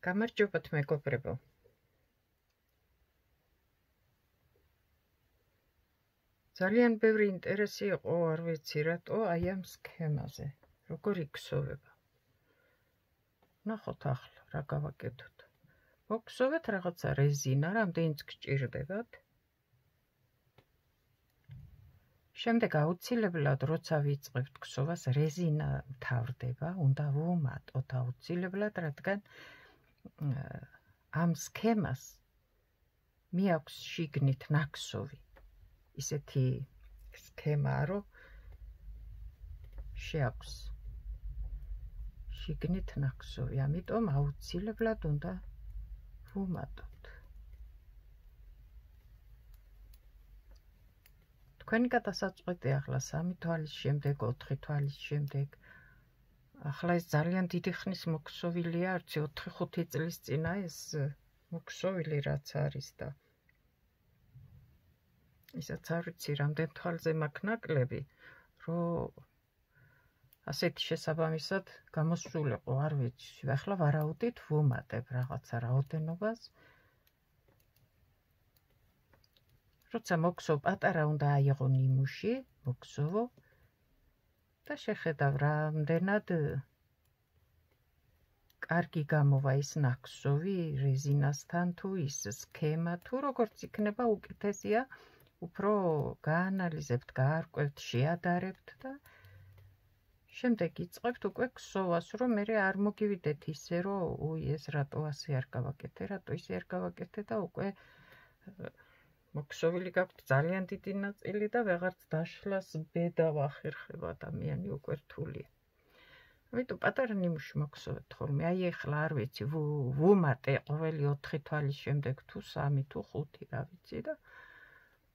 გამარჯობათ მეგობრებო. ძალიან ბევრი ინტერესი იყო, არ ვიცი რატო, აი ამ სქემაზე. როგორ იქსოვება. ნახოთ ახლა, რა გავაკეთოთ. მოგხსოვეთ რაღაცა რეზინა, რამდენიც გჭირდებათ. შემდეგ აუცილებლად, როცა ვიწყებთ ქსოვას, რეზინა მთავრდება, უნდა ვუმატოთ აუცილებლად, რადგან ამ სქემას მიაქვს შიგნით ნაქსოვი. ისეთი სქემაა, რომ შეაქვს შიგნით ნაქსოვი, ამიტომ აუცილებლად უნდა ვუმატოთ. თქვენი გადასაწყვეტი ახლა 3 თვალის შემდეგ, 4 თვალის შემდეგ. ახლა ეს ძალიან დიდი ხნის მოქსოვილია, არც 4-5 წლის წინა ეს მოქსოვილი რაც არის და ისაც არ ვიცი, რამდენ თვალზე მაქვს ნაკლები, რომ ასეთი შესაბამისად გამოსულიყო, არ ვიცი, ახლა ვარაუდით ვუმატებ რაღაცა რაოდენობას. როცა მოგსოვ, პატარა უნდა აიღო ნიმუში, მოგსოვო და შეხედავ რამდენად კარგი გამოვა ის ნაქსოვი რეზინასთან თუ ის სქემა თუ როგორც იქნება უკეთესია, უფრო გაანალიზებთ, გაარკვევთ, შეადარებთ და შემდეგ იწყებთ უკვე ქსოვას, რომ მე არ მოგივიდეთ ისე, რომ ეს რატო ასე არ გავაკეთე, რატო ისე არ გავაკეთე და უკვე მოქსოვილი გაქვთ ძალიან დიდი ნაწილი და ვეღარც დაშლას ბედა ვახერხებ ადამიანი უკვე რთულია. ამიტომ პატარა ნიმუში მოგსოვეთ ხოლმე, აი ახლა არ ვიცი, ვუმატე ყოველი 4 თვალის შემდეგ თუ 3 თუ 5, რა ვიცი და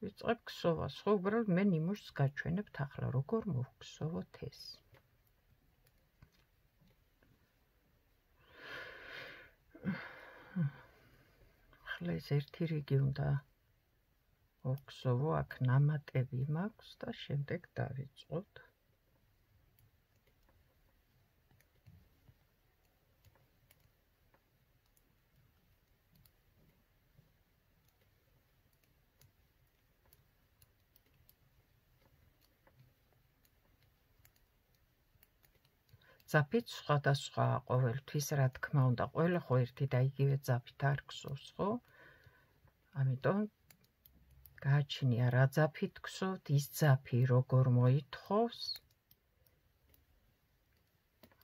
ვიწყებ ქსოვას, ხო უბრალოდ მე ნიმუშს გაჩვენებთ ახლა, როგორ მოვქსოვოთ ეს. ახლა ეს ერთი რიგი უნდა ვქსოვო, აქ ნამატები მაქვს და შემდეგ დავიწყოთ. ძაფით სხვადასხვა ყოველთვის, რა თქმა უნდა, ყველა ხო ერთი და იგივე ძაფით არ ქსოვს, ხო? ამიტომ გააჩნია რა ძაფით ქსოვთ, ის ძაფი როგორ მოითხოვს.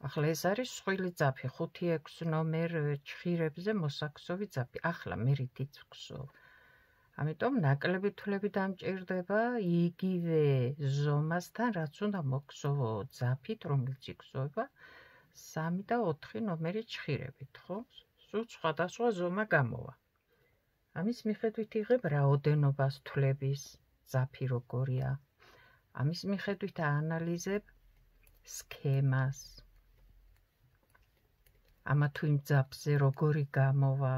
ახლა ეს არის სხვილი ძაფი, 5-6 ნომერ ჩხირებზე მოსაქსოვი ძაფი. ახლა მე რითიც ვქსოვ. ამიტომ ნაკლები თვლები დამჭირდება იგივე ზომასთან, რაც უნდა მოგქსოვო ძაფით, რომელიც იქსოვება 3 და 4 ნომერი ჩხირებით, ხო? სულ სხვადასხვა ზომა გამოვა. ამის მიხედვით იღებ რაოდენობას თვლების, ძაფი როგორია. ამის მიხედვით აანალიზებ სქემას. ამა თუ იმ ძაფზე როგორი გამოვა.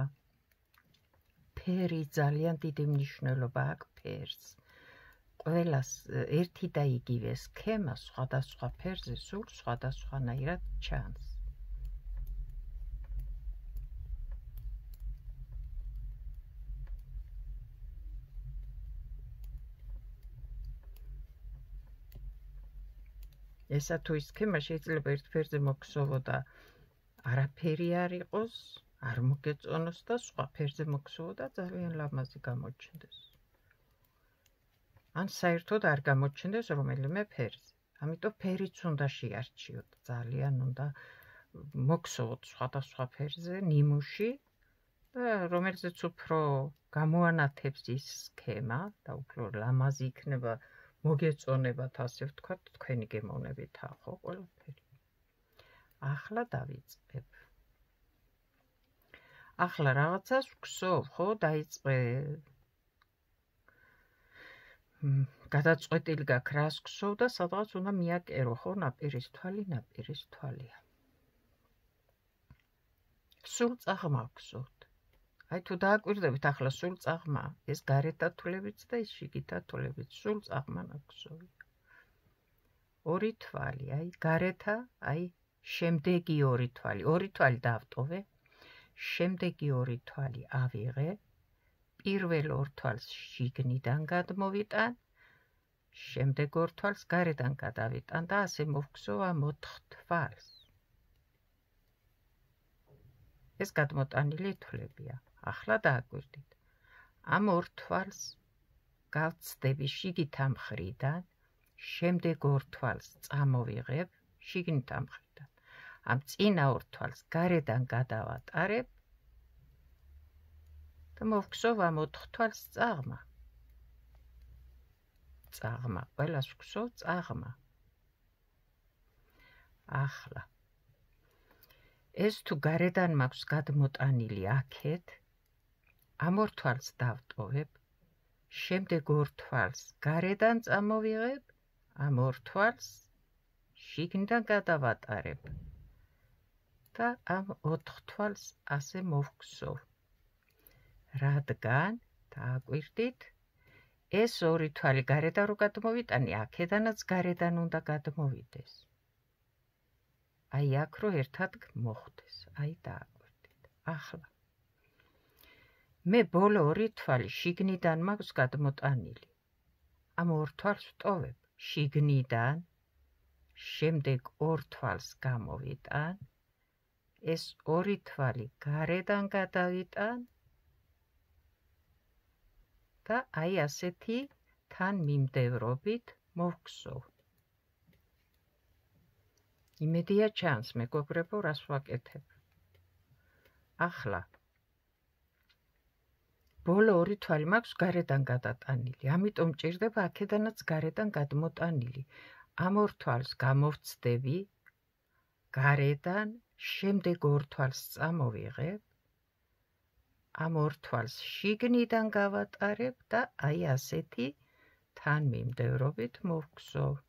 ფერი ძალიან დიდი მნიშვნელობა აქვს ფერს. ყველას ერთი და იგივე სქემა სხვადასხვა ფერზე სულ სხვადასხვანაირად ჩანს. ესა თუ ის სქემა შეიძლება ერთ ფერზე მოგსოვო და არაფერი არ იყოს, არ მოგეწონოს და სხვა ფერზე მოგსოვო და ძალიან ლამაზი გამოჩნდეს. ან საერთოდ არ გამოჩნდეს რომელიმე ფერზე. ამიტომ ფერიც უნდა შეარჩიოთ, ძალიან უნდა მოგსოვოთ სხვადასხვა ფერზე ნიმუში და რომელზეც უფრო გამოანათებს ის სქემა და უფრო ლამაზი იქნება მოგეწონებათ, ასე ვთქვათ, თქვენი გემოვნებითა, ხო, ყველაფერი. ახლა დავიწყებ. ახლა რაღაცას ვქსოვ, ხო, დაიწყე გადაწყვეტილი გაქვს რას ვქსოვ და სადღაც უნდა მიაკერო, ხო, ნაპირის თვალია. სულ წაღმა ვქსოვთ. აი თუ დააკვირდებით ახლა სულ წაღმა, ეს გარეთა თვლებიც და ეს შიგითა თვლებიც, სულ წაღმა ნაქსოვია. 2 თვალი, აი გარეთა, აი შემდეგი 2 თვალი. 2 თვალი დავტოვე. შემდეგი 2 თვალი ავიღე, პირველ 2 თვალს შიგნიდან გადმოვიტან, შემდეგ 2 თვალს გარედან გადავიტან და ასე მოვგზავ ამ 4 თვალს. ეს გადმოტანილი თვლებია. ახლა დააკვირდით. ამ 2 თვალს გავცდები შიგითა მხრიდან, შემდეგ 2 თვალს წამოვიღებ შიგნითა მხრიდან. ამ წინა 2 თვალს გარედან გადავატარებ და მოვგზავ ამ 4 თვალს წაღმა. წაღმა, ყველას ვგზავ წაღმა. ახლა ეს თუ გარედან მაქვს გადმოტანილი აქეთ, ამ 2 თვალს დავტოვებ, შემდეგ 2 თვალს გარედან წამოვიღებ, ამ 2 თვალს შიგნიდან გადავატარებ და ამ 4 თვალს ასე მოვგზავ. რადგან, დააკვირდით, ეს 2 თვალი გარედან რო გადმოვიტანი, აქედანაც გარედან უნდა გადმოვიდეს. აი აქ რო ერთად მოხვდეს, აი დააკვირდით. ახლა მე ბოლო 2 თვალი შიგნიდან მაქვს გადმოტანილი. ამ 2 თვალს ვტოვებ შიგნიდან, შემდეგ 2 თვალს გამოვიტან, ეს 2 თვალი გარედან გადავიტან და აი ასეთი თანმიმდევრობით მოვგზავ. იმედია ჩანს, მეგობრებო, რას ვაკეთებ. ახლა ბოლო 2 თვალი მაქვს გარედან გადატანილი, ამიტომ მჭირდება აქედანაც გარედან გადმოტანილი. ამ 2 თვალს გამოვცდები გარედან, შემდეგ 2 თვალს წამოვიღებ, ამ 2 თვალს შიგნიდან გავატარებ და აი ასეთი თანმიმდევრობით მოვგზავ.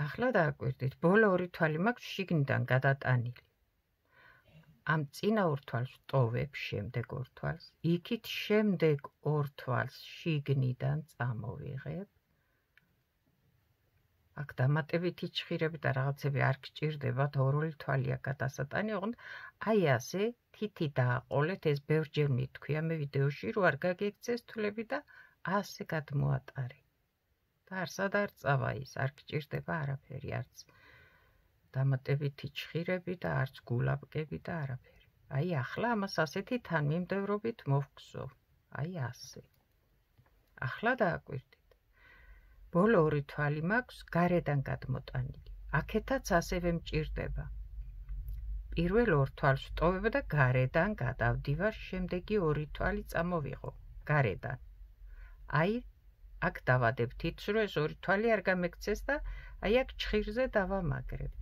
ახლა დააკვირდით, ბოლო 2 თვალი მაქვს შიგნიდან გადატანილი. ამ წინა 2 თვალს ვტოვებ, შემდეგ 2 თვალს, იქით შემდეგ 2 თვალს შიგნიდან წამოვიღებ. აქ დამატებითი ჭხირები და რაღაცები არ გჭირდებათ, 2 თვალია გადასატანი, ოღონდ აი ასე თითი დააყოლეთ, ეს ბევრჯერ მითქვია მე ვიდეოში, რომ არ გაგექცეს თვლები და ასე გადმოატარე. და არსად არ წავა ის, არ გჭირდება არაფერი, არც დამატებითი ჭხირები და არც გულაბკები და არაფერი. აი ახლა ამას ასეთი თანმიმდევრობით მოვგზავ. აი ასე. ახლა დააკვირდით. ბოლო 2 თვალი მაქვს გარედან გადმოტანილი. აქეთაც ასევე მჭირდება. პირველ 2 თვალს ვტოვებ და გარედან გადავდივარ, შემდეგი 2 თვალი წამოვიღო გარედან. აი აქ დავადებ თითს, რომ ეს 2 თვალი არ გამექცეს და აი აქ ჭხირზე დავამაგრებ.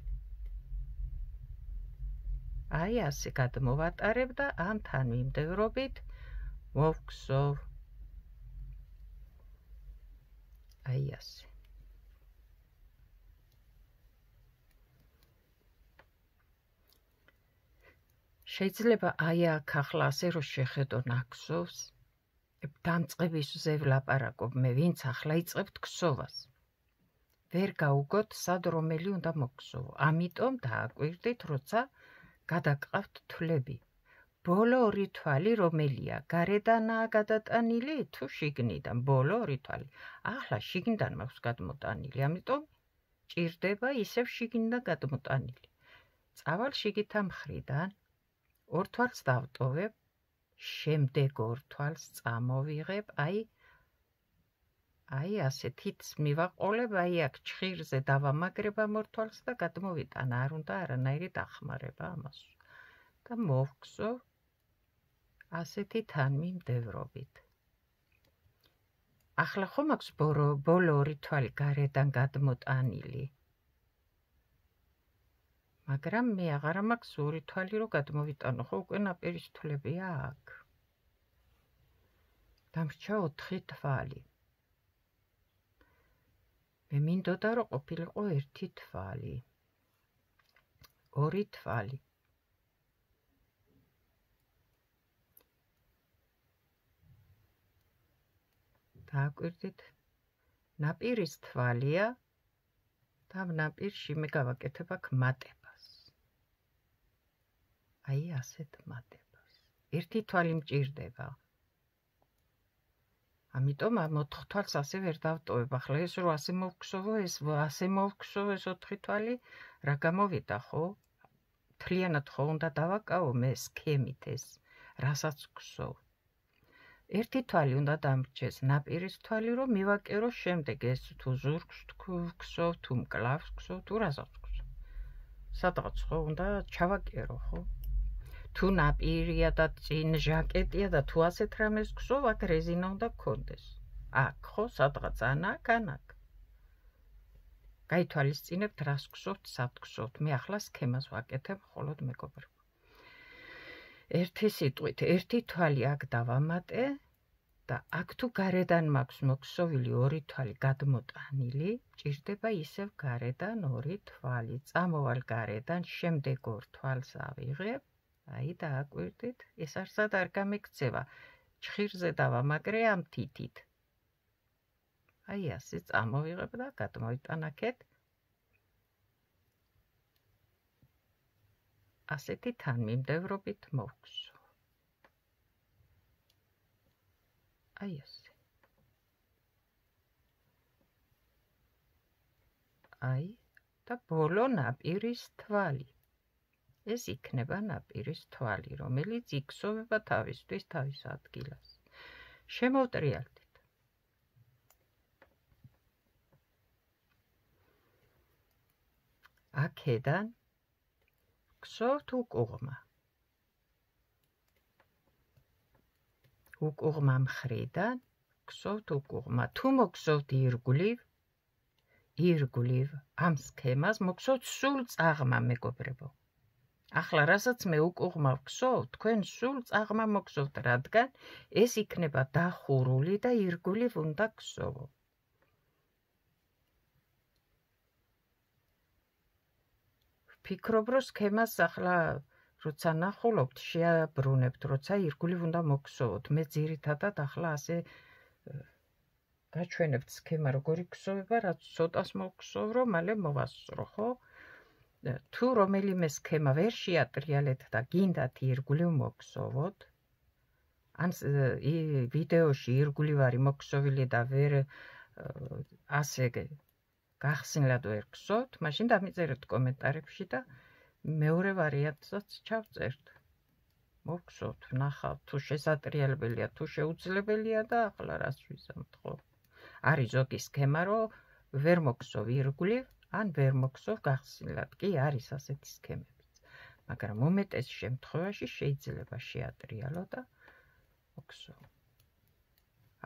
აი ასე გადმოვატარებ და ამ თანმიმდევრობით მოვგზავ. აი ასე. შეიძლება აი აქ ახლა ასე რომ შეხედო ნაქსოვს, დამწყების ზე ვლაპარაკობ მე, ვინც ახლა იწყებთ ქსოვას. ვერ გაუგოთ სად რომელი უნდა მოგქსოვო. ამიტომ დააკვირდით, როცა გადაგყავთ თვლები. ბოლო 2 თვალი რომელია? გარედანაა გადატანილი თუ შიგნიდან? ბოლო 2 თვალი. ახლა შიგნიდან მაქვს გადმოტანილი, ამიტომ ჭირდება ისევ შიგნიდან გადმოტანილი. წავალ შიგითა მხრიდან, 2 თვალს დავტოვებ, შემდეგ 2 თვალს წამოვიღებ, აი ასე თითს მივაყოლებ, აი აქ ჭხირზე დავამაგრებ ამ 2 თვალს და გადმოვიტან, არ უნდა არანაირი დახმარება ამას. და მოვგზავ ასეთი თანმიმდევრობით. ახლა ხომ აქვს ბოლო 2 თვალი გარედან გადმოტანილი. მაგრამ მე აღარა მაქვს 2 თვალი რომ გადმოვიტანო, ხო უკვე ნაპირის თვლებია აქ. დამრჩა 4 თვალი. მე მინდოდა რომ ყოფილიყო 1 თვალი. 2 თვალი. დააკვირდით, ნაპირის თვალია და ნაპირში მე გავაკეთებ აქ მატებას. აი ასეთ მატებას. ერთი თვალი მჭირდება. ამიტომ ამ 4 თვალს ასე ვერ დავტოვებ. ახლა ეს რო ასე მოვქცოვო, ეს ასე მოვქცოვო ეს 4 თვალი, რა გამოვიდა ხო? მთლიანად ხო უნდა დავაკავო მე სქემით ეს, რასაც ვქცოვ. ერთი თვალი უნდა დამრჩეს ნაპირის თვალი, რომ მივაკერო შემდეგ ეს თუ ზურგს ვქცოვ, თუ მკლავს ვქცოვ, თუ რასაც ვქცოვ. სადღაც ხო უნდა ჩავაკერო ხო? თუ ნაპირია და წინ ჟაკეტია და თუ ასეთ რამეს ვქცოვ, აქ რეზინა უნდა გქონდეს. აქ ხო, სადღაც ანაკ. გაითვალისწინებთ რას ვქცოვთ, სად ვქცოვთ. მე ახლა სქემას ვაკეთებ მხოლოდ მეგობრებო. ერთი სიტყვით, ერთი თვალი აქ დავამატე და აქ თუ გარედან მაქვს მოქსოვილი 2 თვალი გადმოტანილი, ჭირდება ისევ გარედან 2 თვალი. წამოვალ გარედან, შემდეგ 2 თვალს ავიღებ, აი დააკვირდით, ეს არსად არ გამიქცევა. ჩხირზე დავამაგრე ამ თითით. აი ასე წამოვიღებ და გადმოვიტანაკეთ. ასეთი თანმიმდევრობით მოვქცო. აი ასე. აი და ბოლო ნაპირის თვალი. ეს იქნება ნაპირის თვალი, რომელიც იქსოვება თავისთვის თავის ადგილას. შემოვტრიალდით. აქედან ვქცოვთ უკუღმა. უკუღმა მხრიდან ვქცოვთ უკუღმა. თუ მოგხსოვთ ირგვლივ ამ სქემას მოგხსოვთ სულ წაღმა მეგობრებო. ახლა რასაც მე უკუღმა ვქცოვ, თქვენ სულ წაღმა მოგხსოვთ, რადგან ეს იქნება დახურული და ირგვლივ უნდა გქცოვო. ვფიქრობ, რომ სქემას ახლა როცა ნახულობთ, შეაბრუნებთ, როცა ირგვლივ უნდა მოგხსოვოთ. მე ძირითადად ახლა ასე გაჩვენებთ სქემა როგორი გქცოვება, რაც ცოტას მოგხსოვ, რომ მალე მოვასწრო, ხო? თუ რომელიმე სქემა ვერ შეატრიალეთ და გინდათ ირგვლივ მოგხსოვოთ, ან ვიდეოში ირგვლივ არის მოგხსოვილი და ვერ ასე გახსნილად ვერ გხსოვთ, მაშინ დამიწერეთ კომენტარებში და მეორე ვარიანტსაც ჩავწერთ. მოგხსოვთ, ნახავთ, თუ შესაძლებელია, თუ შეუძლებელია და ახლა რას ვიზამთ, ხო? არის ზოგი სქემა, რომ ვერ მოგხსოვ ირგვლივ, ან ვერ მოგხსოვ გახსნილად. კი არის ასეთი სქემებიც. მაგრამ უმეტეს შემთხვევაში შეიძლება შეატრიალო და მოგხსოვ.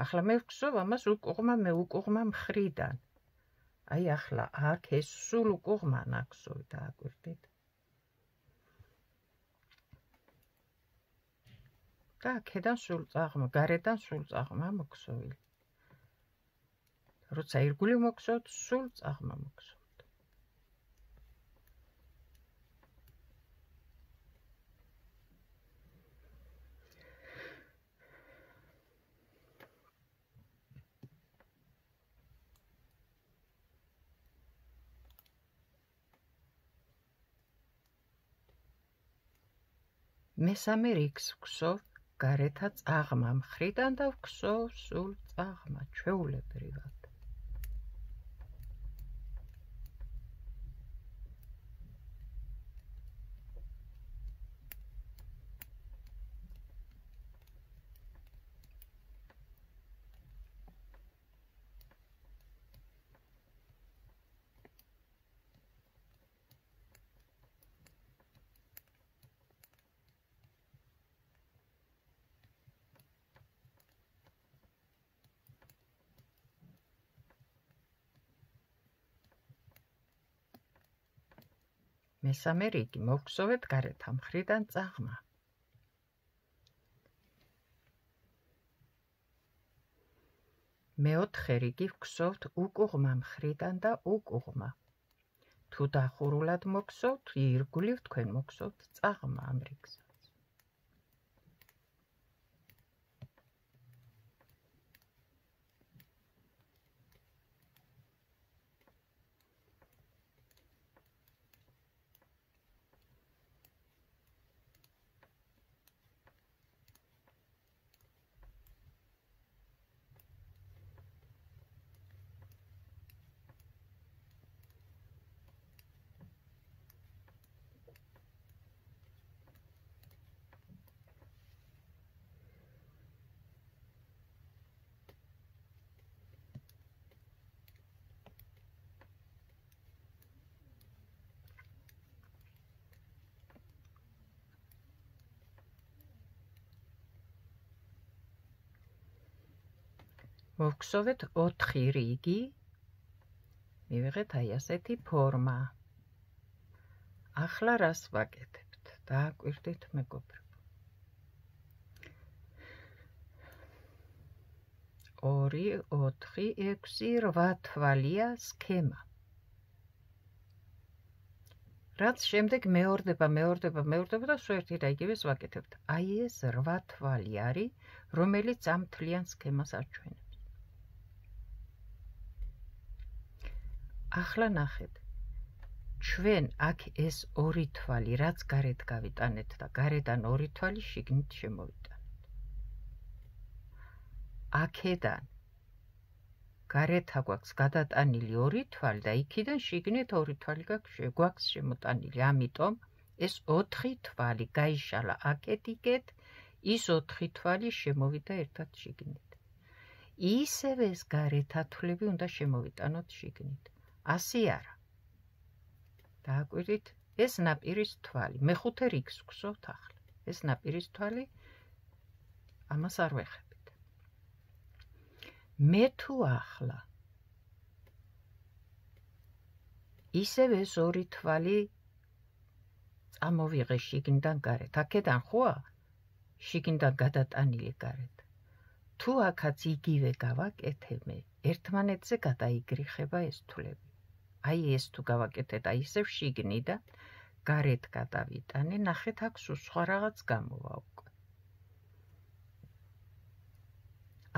ახლა მე ვგხსოვ ამას უკუღმა მხრიდან. აი ახლა აქ ეს სულ უკუღმა ნახსოვი დააკვირდით. და აქედან სულ წაღმა, გარედან სულ წაღმა მოგხსოვილი. როცა ირგვლივ მოგხსოვთ, სულ წაღმა მოგხსოვთ. მესამე რიგს ვგხსოვ გარეთა წაღმა მხრიდან და ვგხსოვ სულ წაღმა ჩვეულებრივად. მესამე რიგი მოვგხსოვეთ გარეთა მხრიდან წაღმა. მეოთხე რიგი ვგხსოვთ უკუღმა მხრიდან და უკუღმა. თუ დახურულად მოგხსოვთ, ირგვლივ თქვენ მოგხსოვთ წაღმა ამ რიგს. მოვგსოვეთ 4 რიგი, მივიღეთ აი ასეთი ფორმა. ახლა რას ვაკეთებთ? დააკვირდით მეგობრებო. 2, 4, 6, 8 თვალია სქემა. რაც შემდეგ მეორდება და სულ ერთი და იგივეს ვაკეთებთ. აი ეს 8 თვალი არის, რომელიც ამ მთლიან სქემას აჩვენებს. ახლა ნახეთ. ჩვენ აქ ეს 2 თვალი, რაც გარეთ გავიტანეთ და გარედან 2 თვალი შიგნით შემოვიტანეთ. აქედან გარეთ აგვაქვს გადატანილი 2 თვალი და იქიდან შიგნით 2 თვალი გვაქვს შემოტანილი. ამიტომ ეს 4 თვალი გაიშალა აკეთ-იქეთ, ის 4 თვალი შემოვიდა ერთად შიგნით. ისევე ეს გარეთ ათვლები უნდა შემოვიტანოთ შიგნით. ასე არა. დააკვირდით, ეს ნაპირის თვალი. მე-5 რიგს ვგსოვთ ახლა. ეს ნაპირის თვალი, ამას არ ვეხებით. მე თუ ახლა ისევე ეს 2 თვალი წამოვიღე შიგნიდან გარეთ. აქედან ხოა შიგნიდან გადატანილი გარეთ. თუ აქაც იგივე გავაკეთებ, ერთმანეთზე გადაიგრიხება ეს თვლები. აი ეს თუ გავაკეთეთ, აი ისევ შიგნიდან გარეთ გადავიტანე, ნახეთ აქ სულ სხვა რაღაც გამოვა უკვე.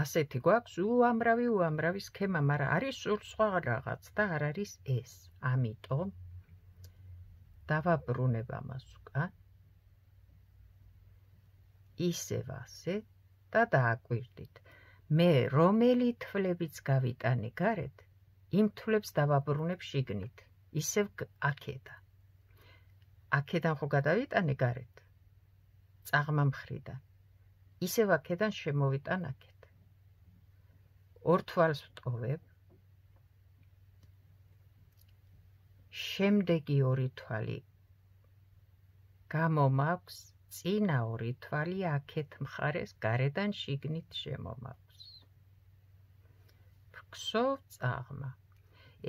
ასეთი გვაქვს უამრავი სქემა, მაგრამ არის სულ სხვა რაღაც და არ არის ეს. ამიტომ დავაბრუნებ ამას უკან. ისევ ასე და დააკვირდით. მე რომელი თვლებიც გავიტანე გარეთ, იმ თვლებს დავაბრუნებ შიგნით, ისევ აქედან. აქედან ხო გადავიტანე გარეთ, წაღმა მხრიდან, ისევ აქედან შემოვიტან აქეთ. 2 თვალს ვტოვებ, შემდეგი 2 თვალი გამომაქვს, წინა 2 თვალი აქეთ მხარეს გარედან შიგნით შემომაქვს. ვგსოვ წაღმა.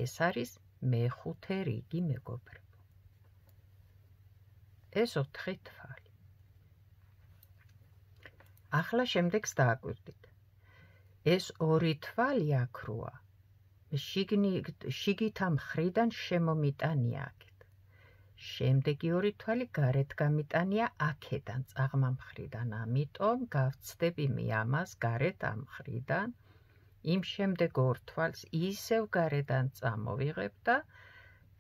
ეს არის მე-5 რიგი მეგობრებო. ეს 4 თვალი. ახლა შემდეგს დააკვირდით. ეს 2 თვალი აქ როა. შიგით ამ მხრიდან შემომიტანია აქეთ. შემდეგი 2 თვალი გარეთ გამიტანია აქედან წაღმა მხრიდან. ამიტომ გავცდები მე ამას გარეთ ამ მხრიდან. იმ შემდეგ 2 თვალს ისევ გარედან წამოვიღებ და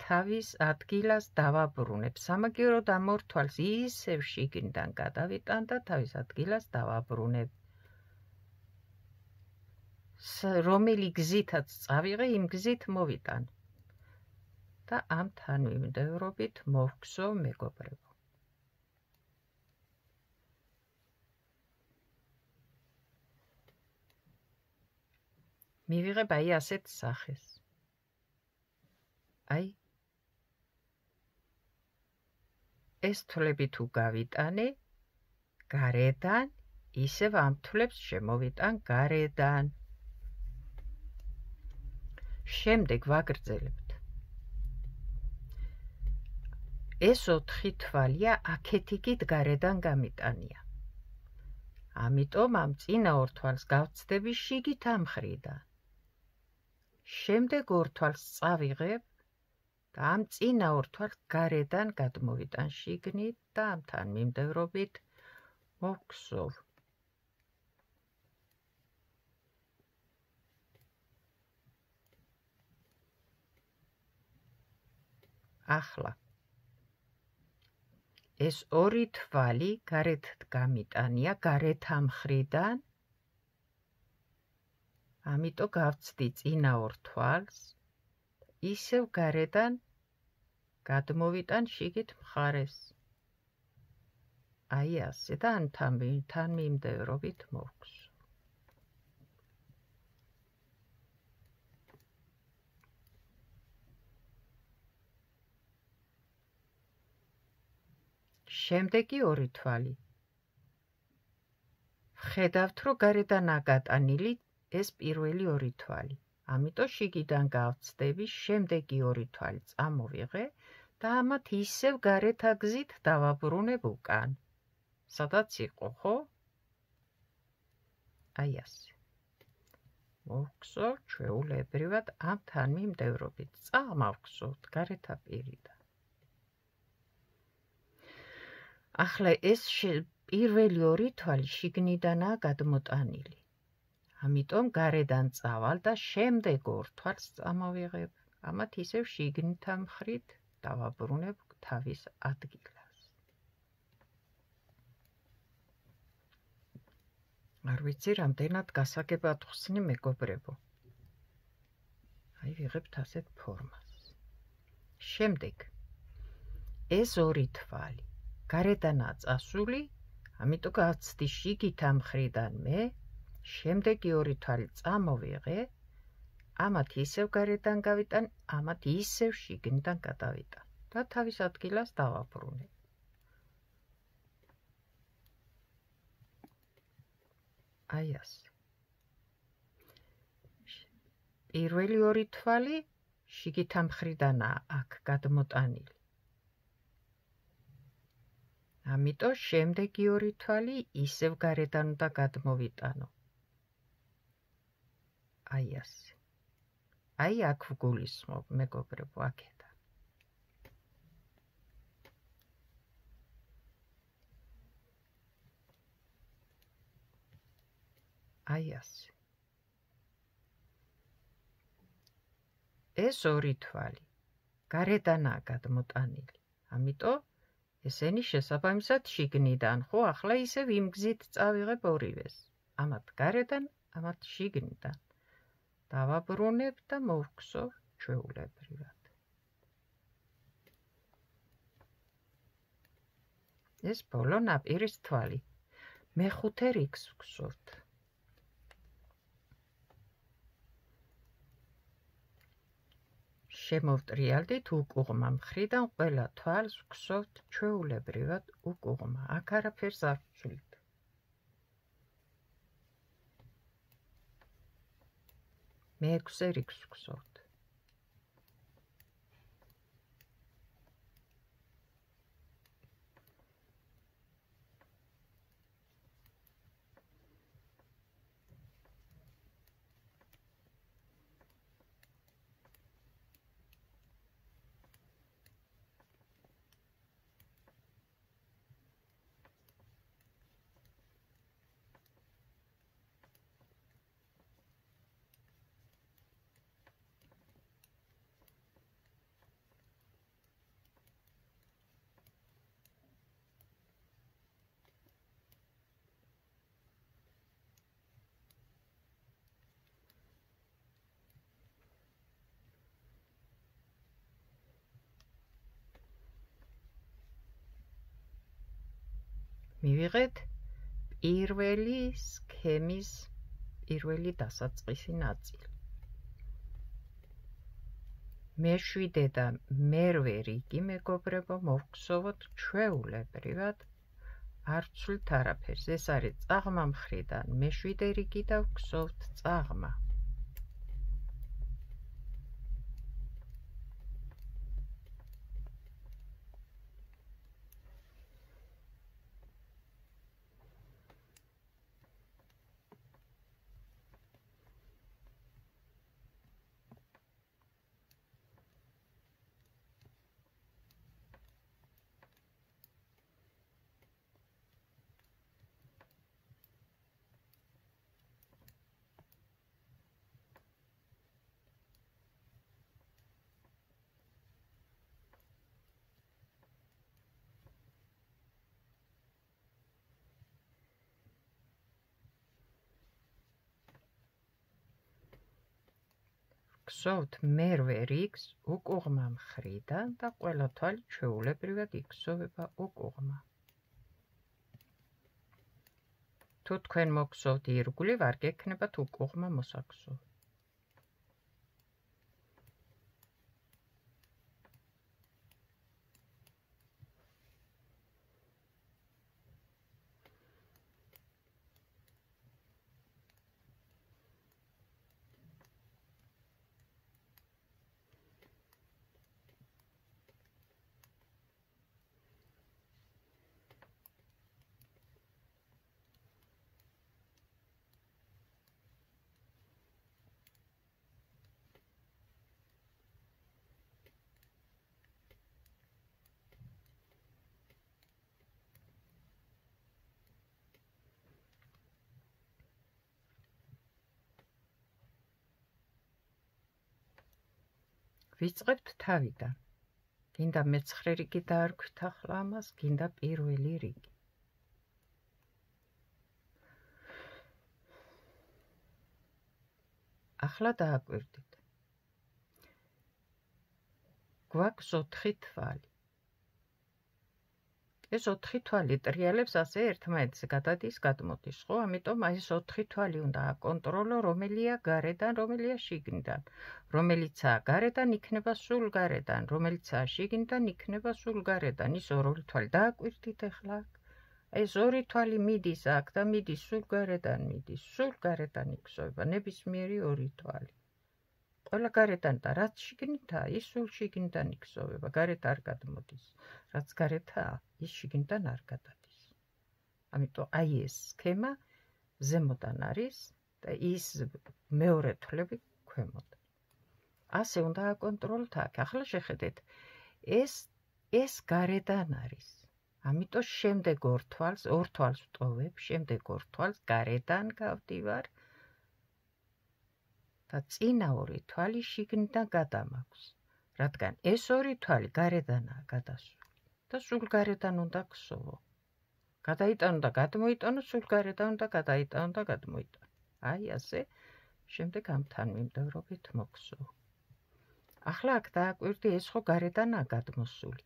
თავის ადგილას დავაბრუნებ. სამაგიეროდ ამ 2 თვალს ისევ შიგნიდან გადავიტან და თავის ადგილას დავაბრუნებ. რომელი გზითაც წავიღე, იმ გზით მოვიტან. და ამ თანმიმდევრობით მოვგსოვ მეგობრებო. მივიღებ აი ასეთ სახეს. აი ეს თვლები თუ გავიტანე გარედან, ისევ ამ თვლებს შემოვიტან გარედან. შემდეგ ვაგრძელებთ. ეს 4 თვალია აქეთ-იქით გარედან გამიტანია. ამიტომ ამ წინა 2 თვალს გავცდები შიგით ამ მხრიდან. შემდეგ 2 თვალს წავიღებ და ამ წინა 2 თვალს გარედან გადმოვიტან შიგნით და ამ თანმიმდევრობით მოვგსოვ. ახლა ეს 2 თვალი გარეთ გამიტანია, გარეთ ამ მხრიდან. ამიტომ გავცდი წინა 2 თვალს, ისევ გარედან გადმოვიტან შიგით მხარეს. აი ასე და ამ თანმიმდევრობით მოვგსოვ. შემდეგი 2 თვალი. ხედავთ, რომ გარედან აგატანილი ეს პირველი ორი თვალი. ამიტომ შიგიდან გავცდები, შემდეგი ორი თვალი წამოვიღე და ამათ ისევ გარეთ აგზით დავაბრუნებ უკან. სადაც იყო, ხო? აი ასე. მოვგზავნ ჩვეულებრივად ამ თანმიმდევრობით. წამოვგზავნთ გარეთ აპირიდან. ახლა ეს პირველი ორი თვალი შიგნიდანაა გადმოტანილი. ამიტომ გარედან წავალ და შემდეგ ორ თვალს წამოვიღებ. ამათ ისევ შიგნითა მხრით დავაბრუნებ თავის ადგილას. არ ვიცი, რამდენად გასაგებად ხსნი მეგობრებო. აი ვიღებთ ასეთ ფორმას. შემდეგ ეს ორი თვალი გარედანაა წასული, ამიტომ გავცდი შიგითა მხრიდან მე, შემდეგი ორი თვალი წამოვიღე, ამათ ისევ გარედან გავიტან, ამათ ისევ შიგნიდან გადავიტან და თავის ადგილას დავაბრუნებ. აი ასე. პირველი ორი თვალი შიგითა მხრიდანაა აქ გადმოტანილი. ამიტომ შემდეგი ორი თვალი ისევ გარედან უნდა გადმოვიტანო. აი ასე. აი აქ ვგულისხმობ, მეგობრებო, აქედან. აი ასე. ეს ორი თვალი გარედანაა გადმოტანილი. ამიტომ ესენი შესაბამისად შიგნიდან, ხო, ახლა ისევ იმ გზით წავიღებ ორივეს. ამათ გარედან, ამათ შიგნიდან. დავაბრუნებ და მოვგზავ ჩვეულებრივად. ეს ბოლო ნაპირის თვალი. მეხუთე რიგს ვგზავნთ. შემოვტრიალდით უკუღმა მხრიდან ყველა თვალს ვგზავნთ ჩვეულებრივად უკუღმა. აქ არაფერს არ ვცვლით. მეექვსე რიგს ვგზავნთ. მივიღეთ პირველი სქემის პირველი დასაწყისი ნაწილი. მეშვიდე და მერვე რიგი, მეგობრებო, მოვგზავნოთ ჩვეულებრივად. არ ვცვლით არაფერს. ეს არის წაღმა მხრიდან მეშვიდე რიგი და ვგზავნთ წაღმა. ვგზავნთ მერვე რიგს უკუღმა მხრიდან და ყველა თვალი ჩვეულებრივად იგზავება უკუღმა. თუ თქვენ მოგგზავნთ ირგვლივ, არ გექნებათ უკუღმა მოსაგზავრ. ვიწყებთ თავიდან. გინდა მეცხრე რიგი დაარქვით ახლა ამას, გინდა პირველი რიგი. ახლა დააკვირდით. გვაქვს 4 თვალი. ეს 4 თვალი ტრიალებს ასე ერთმანეთზე გადადის, გადმოდის, ხო? ამიტომ აი ეს 4 თვალი უნდა აკონტროლო, რომელია გარედან, რომელია შიგნიდან. რომელიცაა გარედან, იქნება სულ გარედან, რომელიცაა შიგნიდან, იქნება სულ გარედან. ის ორი თვალი დააკვირდით ახლა. აი ეს ორი თვალი მიდის აქ და მიდის სულ გარედან, მიდის სულ გარედან იქსოვება ნებისმიერი ორი თვალი. ყველა გარედან და რაც შიგნითაა, ის სულ შიგნიდან იქსოვება, გარეთ არ გადმოდის. რაც გარეთაა, ის შიგნიდან არ გადადის. ამიტომ აი ეს სქემა ზემოდან არის და ის მეორე თვლები ქვემოდან. ასე უნდა აკონტროლოთ აქ. ახლა შეხედეთ, ეს გარედან არის. ამიტომ შემდეგ ორ თვალს ვტოვებ, შემდეგ ორ თვალს გარედან გავდივარ და წინა ორი თვალი შიგნიდან გადამაქვს, რადგან ეს ორი თვალი გარედანაა გადასული და სულ გარედან უნდა გსოვო. გადაიტანო და გადმოიტანო, სულ გარედან უნდა გადაიტანო და გადმოიტანო. აი ასე, შემდეგ ამთან მიმდევრობით მოგსოვ. ახლა აქ დააკვირდი, ეს ხო გარედანაა გადმოსული.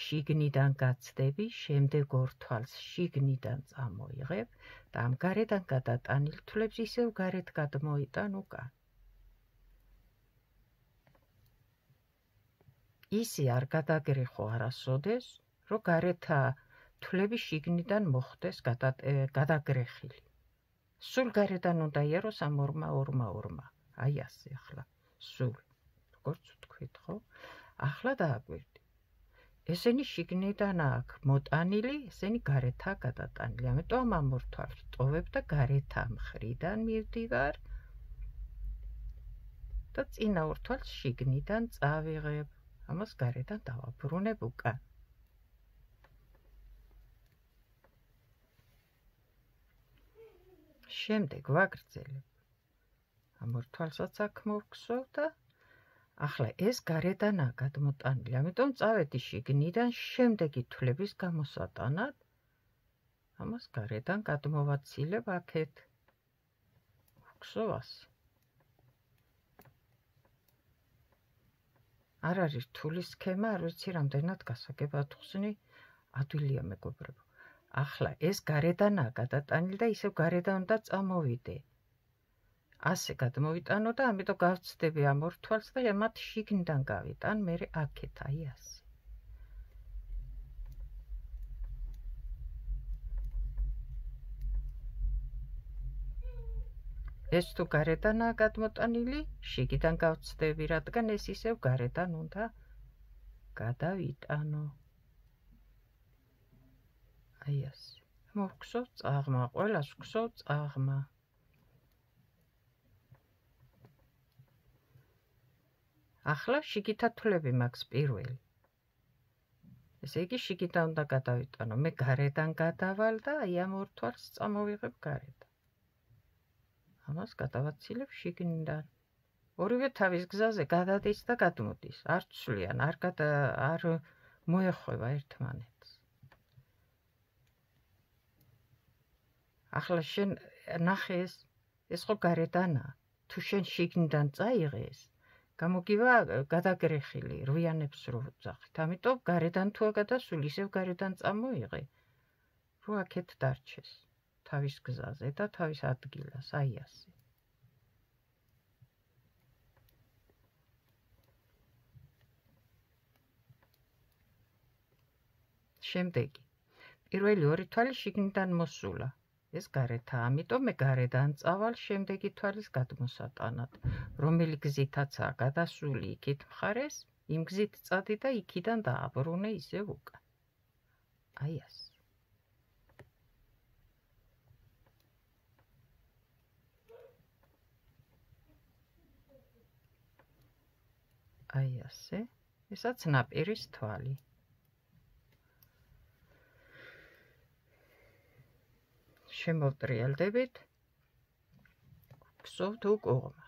შიგნიდან გაცდები, შემდეგ ორ თვალს შიგნიდან წამოიღებ და ამ გარედან გადატანილ თვლებს ისევ გარეთ გადმოიტან უკან. ისი არ გადაგრეხო არასოდეს, რომ გარეთა თვლები შიგნიდან მოხდეს გადაგრეხილი. სულ გარედან უნდა იეროს ამ ორმა. აი ასე ახლა, სულ. როგორც ვთქვით, ხო? ახლა დააკვირდი. ესენი შიგნიდან აქ მოტანილი, ესენი გარეთაა გადატანილი. ამიტომ ამ ორ თვალს ვტოვებ და გარეთა მხრიდან მივდივარ და წინა ორ თვალს შიგნიდან წავიღებ. ამას გარედან დავაბრუნებ უკან. შემდეგ ვაგრძელებ. ამ ორ თვალსაც აქ მოვგსოვ და ახლა ეს გარედანაა გადმოტანილი. ამიტომ წავედი შიგნიდან შემდეგი თვლების გამოსატანად. ამას გარედან გადმოვაცილებ აქეთ. ვგსოვ ასე. არ არის რთული სქემა, არ ვიცი რამდენად გასაგებად ხსნი, ადვილია მეგობრებო. ახლა ეს გარედანაა გადატანილი და ისევ გარედან უნდა წამოვიდე. ასე გადმოვიტანო და ამიტომ გავცდები ამ ორ თვალს და მათ შიგნიდან გავიტან, მერე აქეთ, აი ასე. ეს თუ გარედანაა გადმოტანილი, შიგნიდან გავცდები, რადგან ეს ისევ გარედან უნდა გადავიტანო. აი ასე. მოვგსოვ წაღმა, ყველას ვგსოვ წაღმა. ახლა შიგითა თვლები მაქვს პირველი. ესე იგი შიგიდან უნდა გადავიტანო. მე გარედან გადავალ და აი ამ ორ თვალს წამოვიღებ გარედან. ამას გადავაცილებ შიგნიდან. ორივე თავის გზაზე გადადის და გადმოდის. არ ცვლიან, არ მოეხვევა ერთმანეთს. ახლა შენ ნახე ეს ხო გარედანაა. თუ შენ შიგნიდან წაიღე ეს, გამოგივა გადაგრეხილი, რვიანებს რო ვძახით. ამიტომ გარედან თუა გადასული, ისევ გარედან წამოიღე, რო აქეთ დარჩეს. თავის გზაზე და თავის ადგილას, აი ასე. შემდეგი. პირველი ორი თვალი შიგნიდან მოსულა. ეს გარეთაა, ამიტომ მე გარედან წავალ შემდეგი თვალის გადმოსატანად. რომელი გზითაცაა გადასული იქით მხარეს, იმ გზით წადი და იქიდან დააბრუნე ისევ უკან. აი ასე. აი ასე, ესაც ნაპირის თვალი. შემოვტრიალდებით, ვგსოვთ უკუღმა.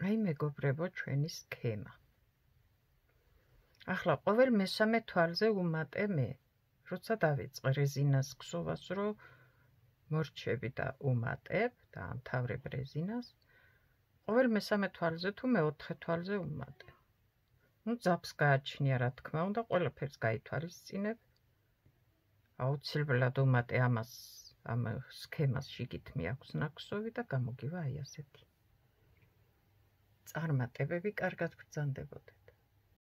აი მეგობრებო, ჩვენი სქემა. ახლა ყოველ მესამე თვალზე უმატე მე, როცა დავიწყე რეზინას ქსოვას, რომ მორჩები და უმატებ და ამთავრებ რეზინას, ყოველ მესამე თვალზე თუ მეოთხე თვალზე უმატებ. ძაბს გააჩნია, რა თქმა უნდა, ყველაფერს გაითვალისწინებ. აუცილებლად უმატე ამას, ამ სქემას შიგით მიაქვს ნაკსოვი და გამოგივა აი ასეთი. წარმატებები კარგად ბრძანდებოდეს.